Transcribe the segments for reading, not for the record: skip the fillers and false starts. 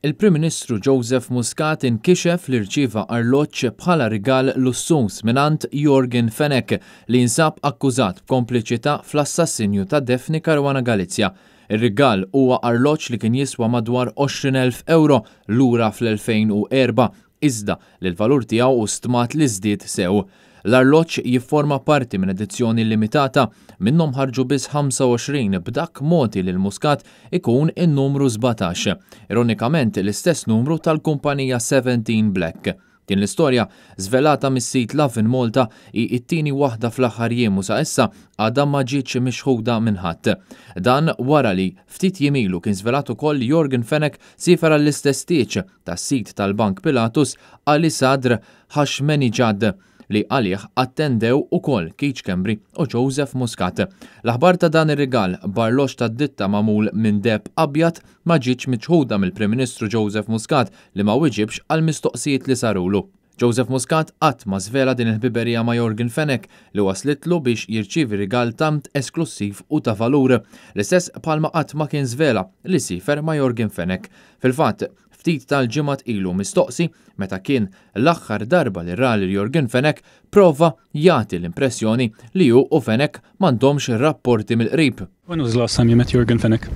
Il-Prim Ministru Joseph Muscat inkixef li rċieva arloġġ bħala rigal lussuż mingħand Yorgen Fenech li jinsab akkużat b'kompliċità fl-assassinju ta' Daphne Caruana Galizia. Ir-rigal huwa arloġġ li kien jiswa madwar 20,000 ewro lura fl-2004 iżda li l-valur tiegħu hu stmat li żdied sew. L-arloġġ jifforma parti minn edizzjoni limitata, minnhom ħarġu biss 25 b'dak mogħti lil Muscat ikun in-numru 17, ironikament l-istess numru tal-kumpanija Seventeen Black. Din l-istorja, żvelata mis-sit Lovin Malta, hi t-tieni waħda fl-aħħar jiem u sa issa għadha ma ġietx miċħuda minn ħadd. Dan wara li, ftit jiem ilu kien żvelat ukoll li Yorgen Fenech siefer għall-istess tieġ tas-sid tal-Bank Pilatus Ali Sadr Hashmenijad li għalih attendew ukoll Keith Schembri u Joseph Muscat. L-aħbar ta' dan ir-rigal b'arloġġ tad-ditta magħmul minn deheb abjad ma ġietx miċħuda mill-Prim Ministru Joseph Muscat li ma wiġibx għall-mistoqsijiet li sarulu. Joseph Muscat qatt ma żvela din il-ħbiberija ma' Yorgen Fenech li waslitlu biex jirċievi rigal tant esklussiv u ta' valur. L-istess bħalma qatt ma kien żvela li siefer ma' Yorgen Fenech. Fil-fatt, ftit tal-ġimgħat ilu mistoqsi meta kien l-aħħar darba li ra lil Yorgen Fenech prova jagħti l-impressjoni li hu u Fenech m'għandhomx rapporti mill-qrib. When was the last time you met Yorgen Fenech?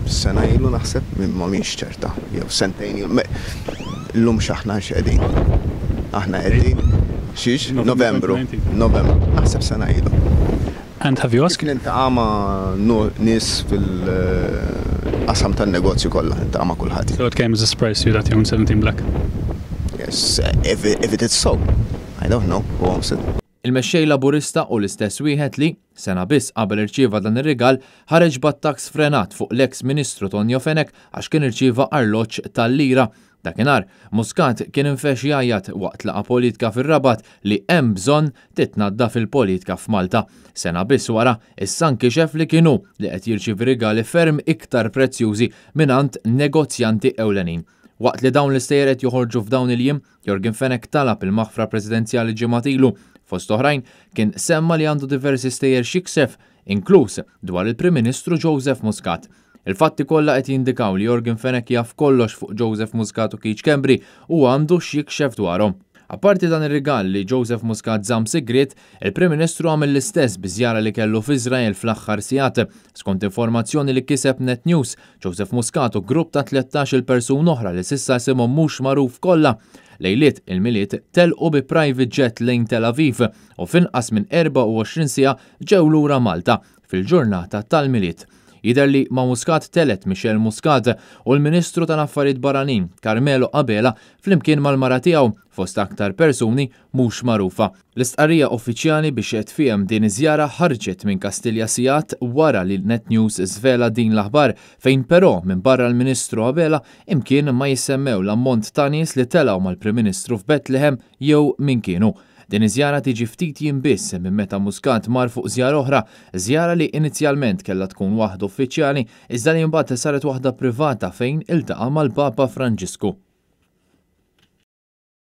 Sena ilu naħseb, ma mhix ċerta, jew sentejn ilu. Illum x'aħna x'qegħdin? Aħna qegħdin xiex? Novembru. Novembru. Naħseb sena ilu. And have you asked? Kif niltaqa' ma' nies fil-qasam tan-negozju kollha, niltaqa' ma' kulħadd. So it came as a surprise to you that you own 17 Black? Yes, if it is so. I don't know who owns it. Il-Mexxej Laburista hu l-istess wieħed li, sena biss qabel irċieva dan ir-rigal, ħareġ b'attakk sfrenat fuq l-eks Ministru Tonio Fenech għax kien irċieva arloġġ tal-lira. Dakinhar, Muscat kien infexx jgħajjat waqt laqgħa politka fir-Rabat li hemm bżonn titnaddaf il-politka f'Malta. Sena biss wara, issa nkixef li kien hu li qed jirċievi rigali ferm iktar prezzjużi mingħand negozjanti ewlenin. Waqt li dawn l-istejjer qed joħorġu f'dawn il-jiem, Yorgen Fenech talab il-maħfra Presidenzjali ġimgħat ilu. Fost oħrajn, kien semma li għandu diversi stejjer x'jiksef, inkluż dwar il-Prim Ministru Joseph Muscat. Il-fatti kollha qed jindikaw li Yorgen Fenech jaf kollox fuq Joseph Muscat u Keith Schembri u għandu x'jikxef dwarhom. Apparti dan ir-rigal li Joseph Muscat żamm sigriet, il-Prim Ministru għamel l-istess bi żjara li kellu f'Iżrael fl-aħħar sigħat. Skont informazzjoni li kiseb Net News, Joseph Muscat u grupp ta' 13-il persuna oħra li s'issa isimhom mhux magħruf kollha, lejliet il-Milied telqu bi private jet lejn Tel Aviv u f'inqas minn 24 siegħa ġew lura Malta fil-ġurnata tal-Milied. Jidher li ma' Muscat telgħet Michelle Muscat u l-Ministru tal-Affarijiet Barranin, Carmelo Abela, flimkien mal-mara tiegħu, fost aktar persuni mhux magħrufa. L-istqarrija uffiċjali biex tfiehem din iż-żjara ħarġet minn Kastilja sigħat wara li Net News żvela din l-aħbar, fejn però minbarra l-Ministru Abela imkien ma jissemmew l-ammont ta' nies li telgħu mal-Prim Ministru f'Bethlehem jew min kienu. Din iż-żjara tiġi ftit jiem biss minn meta Muscat mar fuq żjara oħra, żjara li inizjalment kellha tkun waħda uffiċjali iżda li imbagħad saret waħda privata fejn iltaqa' mal-Papa Franġisku.